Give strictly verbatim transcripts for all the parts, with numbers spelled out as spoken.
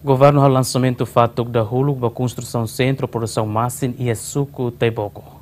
Governu halo lansamentu fatuk dahuluk ba konstrusaun sentru produsaun masin iha suku Taiboko.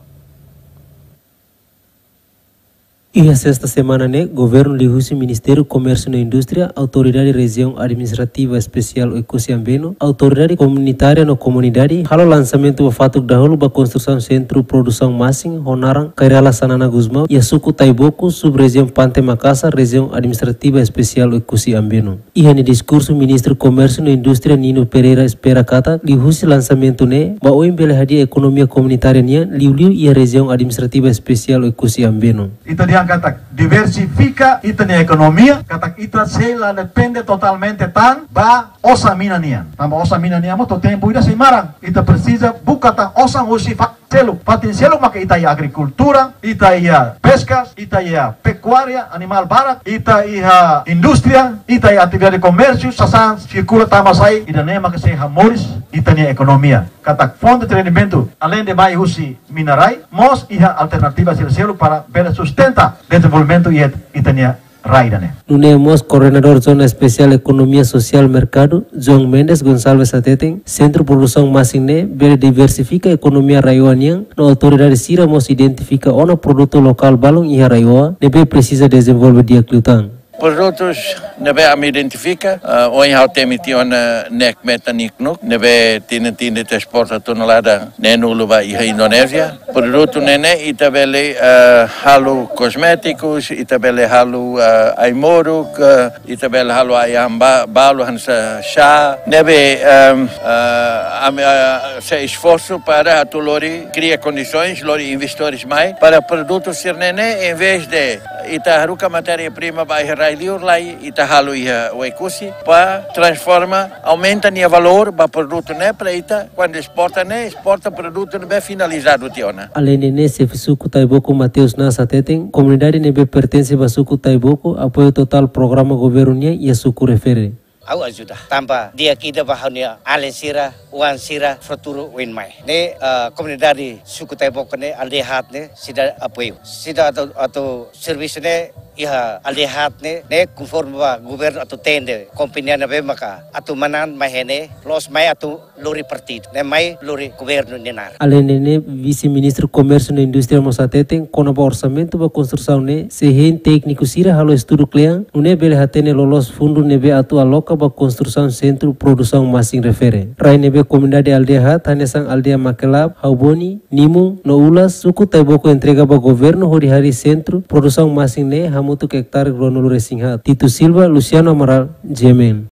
Iha sesta semana ne'e, governu liuhusi Ministériu Komérsiu no Indústria, Autoridade Rejiaun Administrativa Espesiál Oekusi Ambeno, autoridade komunitária no komunidade halo lansamentu ba fatuk dahuluk ba konstrusaun sentru produsaun masin ho naran Kairala Xanana Gusmão iha suku Taiboko, sub-rejiaun Pante Makasar, Rejiaun Administrativa Espesiál Oekusi Ambeno. Iha nia diskursu, Ministru Komérsiu no Indústria Nino Pereira espera katak liuhusi lansamentu ne'e ba oin bele hadi'a ekonomia komunitária nian liuliu iha Rejiaun Administrativa Espesiál Oekusi Ambeno. Ita dehan katak diversifika ita-nia ekonomia, katak ita sei la depende totalmente tan ba osan mina nian. Tanba osan mina nian mós to'o tempu ida sei maran. Ita presiza buka tan osan husi fa- seluk, fatin seluk maka ita iha agrikultura, ita iha peskas, ita iha pekuária, animál barak, ita iha indústria, ita iha atividade komérsiu, sasán sirkula tama sai, ida-ne'e maka sei hamoris ita-nia ekonomia. Katak fonte de rendimentu, aleinde mai husi mina-rai, mós iha alternativa sira seluk para bele sustenta dezenvolvimentu iha ita-nia rai ida-ne'e. Nune'e mós Koordenadór Zona Espesiál Ekonomia Sosiál Merkadu, João Mendes Gonçalves hateten, sentru produsaun masin ne'e bele diversifika ekonomia RAEOA nian, no autoridade sira mós identifika ona produtu lokál balun iha RAEOA ne'ebé presiza dezenvolve di'ak liután. Produtus ne'ebé ami identifika, ah, ohin ha'u temi tiha ona nek metan niknuk, ne'ebé tini-tini ita esporta tonelada neenulu ba iha Indonézia. Produtu ne'e ne'e ita bele, eh, halo kosmétikus, ita bele halo, eh, ai-moruk, eh, ita bele halo ai-han ba-, balu hanesan xá. Ne'ebé, ehm, eh, ami, eh, sei esforsu para atu lori kria kondisoens, lori investidores mai para produtu sira-ne'e ne'e, em vez de ita haruka matéria-prima ba iha rai-liur, lai ita halo iha Oekusi, para transforma, aumenta nia valór ba produtu ne'e para ita, kuandu esporta ne'e, esporta produtu ne'ebé finalizadu tiha ona. Aleinde ne'e, xefe suku Taiboko Mateus Nas hateten, komunidade ne'ebé pertense ba suku Taiboko apoia totál programa governu nian iha suku refere. Ha'u ajuda. Tanba di'ak ida ba ha'u-nia alin sira, oan sira, futuru oin mai. Ne'e, eh, komunidade suku Taiboko ne'e, aldeia haat ne'e, seidauk apoiu. Seidauk atu, atu servisu ne'e iha aldeia haat ne'e, ne'e konforme ba governu atu tende kompañia ne'ebé maka atu manán mai iha ne'e, loos mai atu lori partidu, ne'e mai lori governu nia naran. Aleinde ne'e, Vise-Ministru Komérsiu no Indústria mós hateten, kona-ba orsamentu ba konstrusaun ne'e, sei hein tékniku sira halo estudu kle'an, nune'e bele hatene loloos fundu ne'ebé atu aloka ba konstrusaun sentru produsaun masin refere. Rai ne'ebé komunidade aldeia haat, hanesan aldeia Makelab, Hauboni, Nimun no Ulas, suku Taiboko entrega ba governu hodi harii sentru produsaun masin ne'e hamutuk ektare ruanulu-resin-haat. Tito Silva, Luciano Amaral, G M N.